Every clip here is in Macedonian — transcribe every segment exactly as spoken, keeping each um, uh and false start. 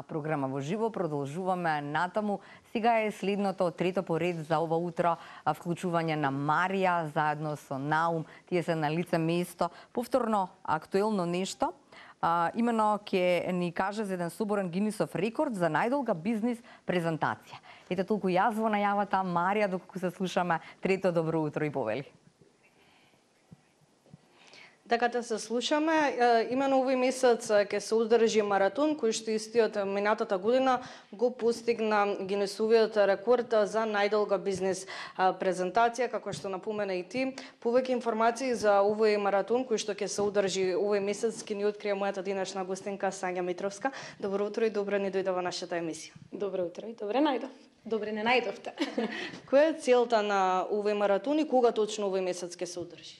програма во живо. Продолжуваме натаму. Сега е следното, трето по ред за ова утро, вклучување на Марија заедно со Наум. Тие се на лице место. Повторно актуелно нешто. А, имено ќе ни каже за еден соборен Гинисов рекорд за најдолга бизнис презентација. Ете толку јас во најавата, Марија, доколку се слушаме, трето добро утро и повели. Така да се слушаме, имено овој месец ќе се одржи маратон, кој што истиот минатата година го постигна Гинесовиот рекорд за најдолга бизнес презентација, како што напомена и ти. Повеќе информации за овој маратон кој што ќе се одржи овој месец ќе ни открие мојата денешна гостинка Сања Митровска. Добро утро и добро ни дојде во нашата емисија. Добро утро и добре најдов. Добре не најдовте. Која е целта на овој маратон и кога точно овој месец ќе се одржи?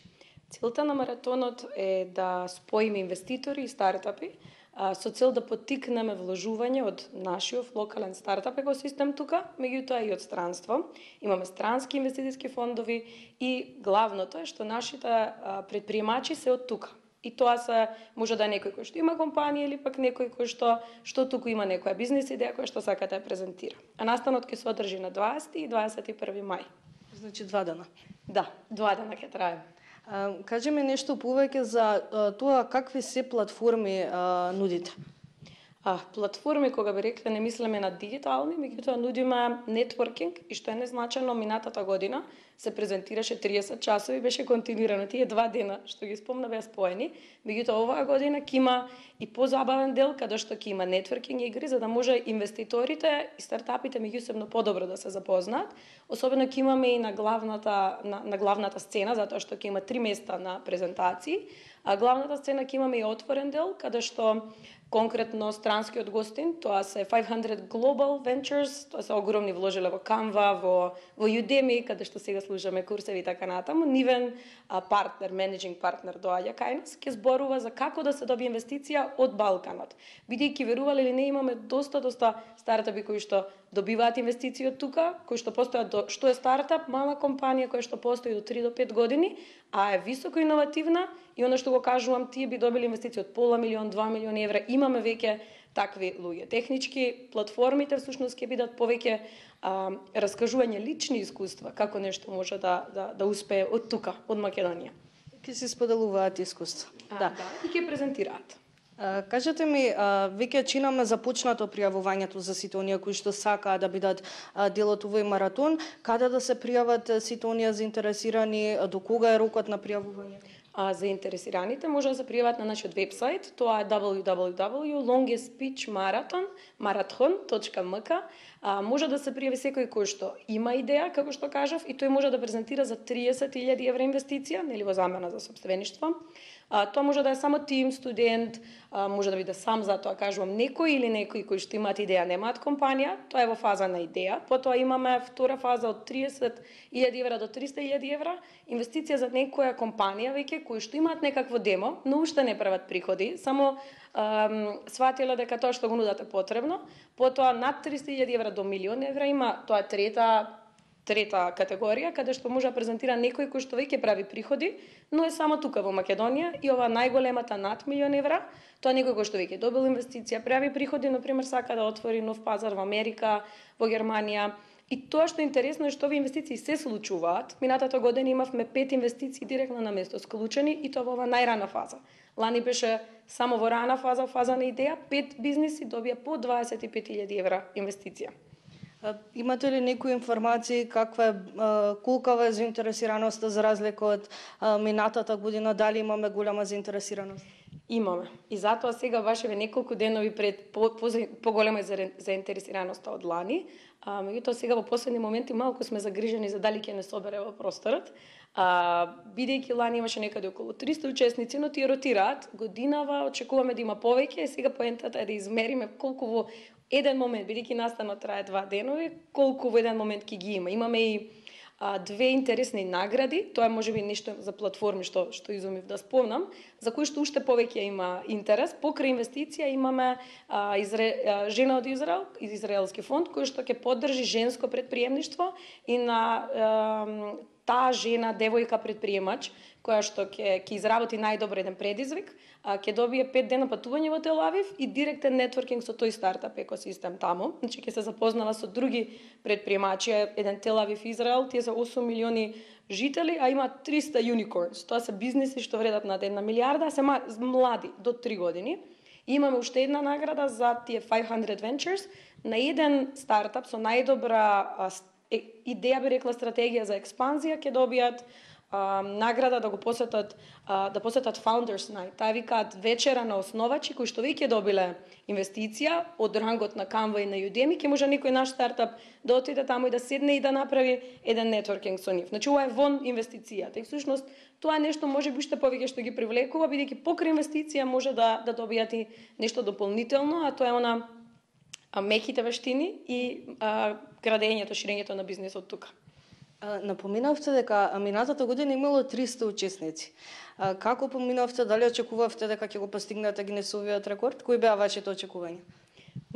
Целта на маратонот е да споиме инвеститори и стартапи со цел да поттикнеме вложување од нашиот локален стартап екосистем тука, меѓутоа и од странство. Имаме странски инвестициски фондови и главното е што нашите предприемачи се од тука. И тоа се може да е некој кој што има компанија или пак некој кој што што туку има некоја бизнис идеја која што сака да ја презентира. А настанот ќе се одржи на дваесети и дваесет и први мај. Значи два дена. Да, два дена ќе трае. Кажи ми нешто повеќе за тоа какви се платформи а, нудите? А, платформи, кога би рекле, не мислиме на дигитални, меѓутоа нудиме нетворкинг и што е незначено, минатата година се презентираше триесет часови, беше континуирано тие два дена што ги спомна беа споени, меѓутоа оваа година ќе има и позабавен дел каде што ќе има нетворкинг игри за да може инвеститорите и стартапите меѓусебно подобро да се запознаат. Особено ќе имаме и на главната на, на главната сцена затоа што ќе има три места на презентации, а главната сцена ќе имаме и отворен дел каде што конкретно странскиот гостин, тоа се петстотини Global Ventures, тоа се огромни вложиле во Canva, во во Udemy, каде што сега слушаме курсеви и така натаму. Нивен а, партнер, менеджинг партнер доаѓа кај нас, ќе зборува за како да се добие инвестиција од Балканот. Бидејќи верувале или не, имаме доста доста стартапи кои што добиваат инвестиции од тука, кои што постојат до што е стартап, мала компанија која што постои до три до пет години, а е високо иновативна и она што го кажувам, тие би добили инвестиција од пола милион, два милиони евра. Имаме веќе такви луѓе. Технички платформите всушност ќе бидат повеќе а, раскажување лични искуства како нешто може да да да успее од тука, од Македонија. Ќе се споделуваат искуства. А, да. да, и ќе презентираат. А, кажете ми, а, веќе чинаме започнато пријавувањето за сите оние кои што сакаат да бидат а, дел од овој маратон. Каде да се пријават сите оние заинтересирани, до кога е рокот на пријавување? А заинтересираните може да се пријават на нашиот вебсайт, тоа е дабл ю дабл ю дабл ю точка longest pitch marathon точка ем ка. А, може да се пријави секој кој што има идеја, како што кажав, и тој може да презентира за триесет илјади евра инвестиција, нели во замена за сопствеништво. А, тоа може да е само тим, студент, а, може да биде сам, затоа кажувам некој или некои кои што имаат идеја, немаат компанија, тоа е во фаза на идеја. Потоа имаме втора фаза од триесет илјади евра до триста илјади евра, инвестиција за некоја компанија веќе кои што имаат некакво демо, но уште не прават приходи, само ам, сватиле дека тоа што го нудат е потребно. Потоа над триста илјади евра до милион евра има, тоа е трета трета категорија, каде што може да презентира некој кој што веќе прави приходи, но е само тука во Македонија, и ова најголемата над милион евра, тоа некој кој што веќе добил инвестиција, прави приходи, например сака да отвори нов пазар во Америка, во Германија. И тоа што е интересно е што овие инвестиции се случуваат. Минатата година имавме пет инвестиции директно на место склучени и тоа во ова најрана фаза. Лани беше само во рана фаза, фаза на идеја, пет бизниси добија по дваесет и пет илјади евра инвестиција. Имате ли некои информации каква е колкава е заинтересираноста за разлика од минатата година, дали имаме голема заинтересираност? Имаме. И затоа сега баш еве неколку денови пред по, по, поголема заинтересираноста од лани, а меѓутоа сега во последни моменти малку сме загрижени за дали ќе не собере во просторот. А, бидејќи лани имаше некаде околу триста учесници, но тие ротираат. Годинава очекуваме да има повеќе, сега поентата е да измериме колку во еден момент, бидејќи настанот трае два денови, колку во еден момент ќе ги има. Имаме и а, две интересни награди, тоа е можеби нешто за платформи што што изумив да спомнам, за кои што уште повеќе има интерес. Покрај инвестиција имаме а, Изре... а, жена од Израел, израелски фонд кој што ќе поддржи женско предприемништво и на а, таа жена, девојка предприемач, која што ќе ќе изработи најдобро еден предизвик, а, ќе добие пет дена патување во Тел Авив и директен нетворкинг со тој стартап екосистем таму. Значи ќе се запознала со други предприемачи, еден Тел Авив Израел, тие се осум милиони жители, а има триста unicorns. Тоа се бизниси што вредат над една милиарда, а се млади до три години. И имаме уште една награда за тие петстотини Ventures на еден стартап со најдобра а, идеја, би рекла, стратегија за експанзија, ќе добијат а, награда да го посетат а, да посетат Founders Night. Таа викаат вечера на основачи кои што веќе добиле инвестиција од рангот на Canva и на Udemy, ќе може некој наш стартап да отиде таму и да седне и да направи еден нетворкинг со нив. Значи ова е вон инвестицијата. И всушност тоа е нешто може би уште повеќе што ги привлекува, бидејќи покрај инвестиција може да да добијат и нешто дополнително, а тоа е она а, меките вештини и а, градењето, ширењето на бизнисот тука. Напоминавте дека минатата година имало триста учесници. Како поминавте, дали очекувавте дека ќе го постигнете Гинесовиот рекорд? Кои беа вашите очекувања?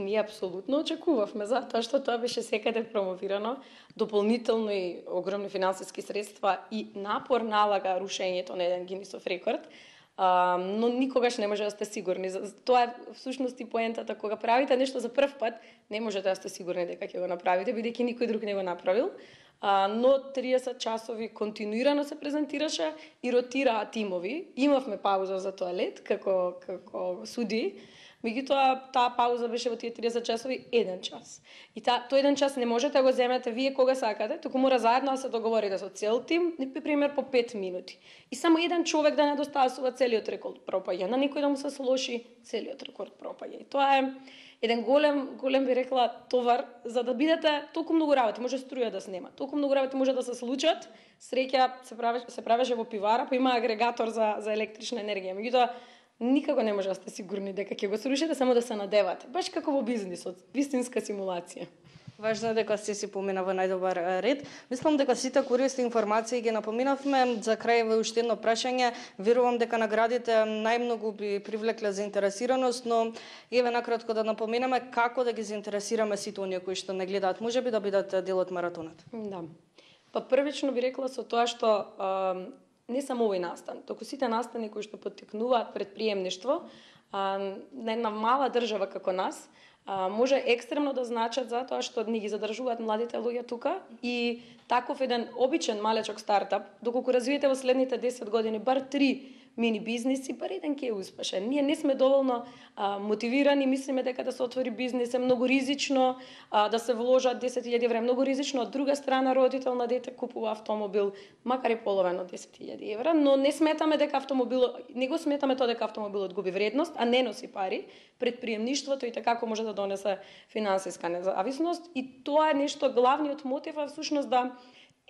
Ние апсолутно очекувавме, затоа што тоа беше секаде промовирано, дополнително и огромни финансиски средства и напор налага рушењето на еден Гинесов рекорд, а, но никогаш не може да сте сигурни. Тоа е всушност и поентата, кога правите нешто за прв пат, не можете да сте сигурни дека ќе го направите, бидејќи никој друг не го направил. А, но триесет часови континуирано се презентираше и ротираа тимови. Имавме пауза за тоалет, како, како суди, меѓутоа таа пауза беше во тие триесет часови еден час. И та, тој еден час не можете да го земете вие кога сакате, туку мора заедно да се договорите со цел тим, например по пет минути. И само еден човек да не достасува целиот рекорд пропаѓа, на некој да му се слоши целиот рекорд пропаѓа. И тоа е еден голем, голем би рекла, товар, за да бидете толку многу работи, може струја да снема, толку многу работи може да се случат, среќа се правеше, се правеше во пивара, па има агрегатор за, за електрична енергија. Меѓутоа, никако не може да сте сигурни дека ќе го срушите, само да се надевате. Баш како во бизнисот, вистинска симулација. Важно е дека сте си помина во најдобар ред. Мислам дека сите користни информации ги напоминавме. За крај во уште едно прашање. Верувам дека наградите најмногу би привлекле заинтересираност, но еве накратко да напоминаме како да ги заинтересираме сите оние кои што не гледаат, можеби да бидат дел од маратонот. Да. Па првично би рекла со тоа што а, не само овој настан, току сите настани кои што поттикнуваат предприемништво, а, на една мала држава како нас, а, може екстремно да значат затоа што ни ги задржуваат младите луѓе тука и таков еден обичен малечок стартап, доколку развиете во следните десет години бар три мини бизниси, бар еден ќе е успешен. Ние не сме доволно а, мотивирани, мислиме дека да се отвори бизнис е многу ризично, а, да се вложат десет илјади евра, многу ризично. Од друга страна, родител на дете купува автомобил, макар и половен од десет илјади евра, но не сметаме дека автомобилот, не го сметаме тоа дека автомобилот губи вредност, а не носи пари. Предприемништвото и така може да донесе финансиска независност и тоа е нешто главниот мотив е всушност да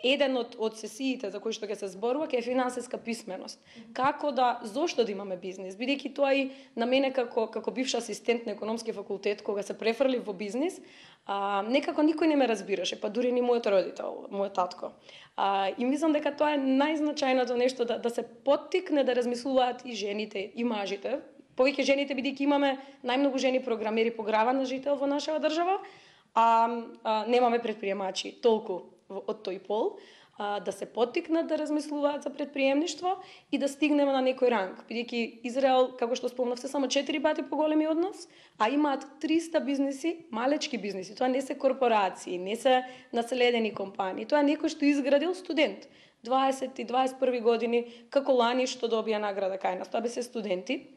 еден од, од сесиите за кои што ќе се зборува ќе е финансиска писменост. Како да, зошто да имаме бизнис? Бидејќи тоа и на мене како како бивш асистент на економски факултет, кога се префрлив во бизнис, а, некако никој не ме разбираше, па дури ни мојот родител, мојот татко. А, и мислам дека тоа е најзначајното нешто да, да се поттикне да размислуваат и жените и мажите. Повеќе жените, бидејќи имаме најмногу жени програмери по грава на жител во нашава држава, а, а немаме предприемачи толку од тој пол, а, да се поттикнат да размислуваат за предприемништво и да стигнеме на некој ранг. Бидејќи Израел, како што спомнав, се само четири пати поголеми од нас, а имаат триста бизниси, малечки бизниси. Тоа не се корпорации, не се наследени компании. Тоа е некој што изградил студент. дваесет и дваесет и први години, како лани што добија награда кај нас. Тоа би се студенти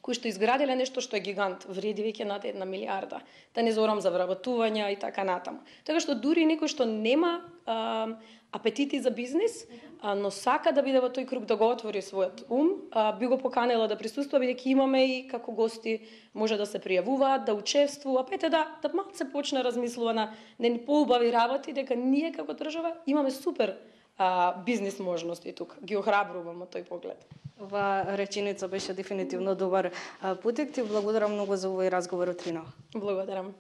кои што изградиле нешто што е гигант, вреди веќе над една милиарда. Да не зборам за вработувања и така натаму. Така што дури некој што нема а, апетити за бизнис, а, но сака да биде во тој круг, да го отвори својот ум, а, би го поканела да присуствува, бидејќи имаме и како гости може да се пријавуваат, да учествува, па ете да, да малку се почне размислува на не поубави работи, дека ние како држава имаме супер а, бизнис можности тука. Ги охрабрувам од тој поглед. Ова реченица беше дефинитивно добар путек. Ти благодарам многу за овој разговор утрино. Благодарам.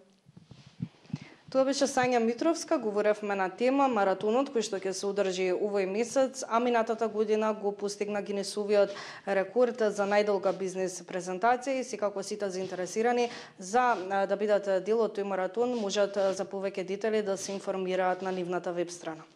Тоа беше Сања Митровска, говоревме на тема маратонот кој што ќе се одржи овој месец, а минатата година го постигна Гинесовиот рекорд за најдолга бизнис презентација и секако сите заинтересирани за да бидат дел од тој маратон можат за повеќе детали да се информираат на нивната веб страна.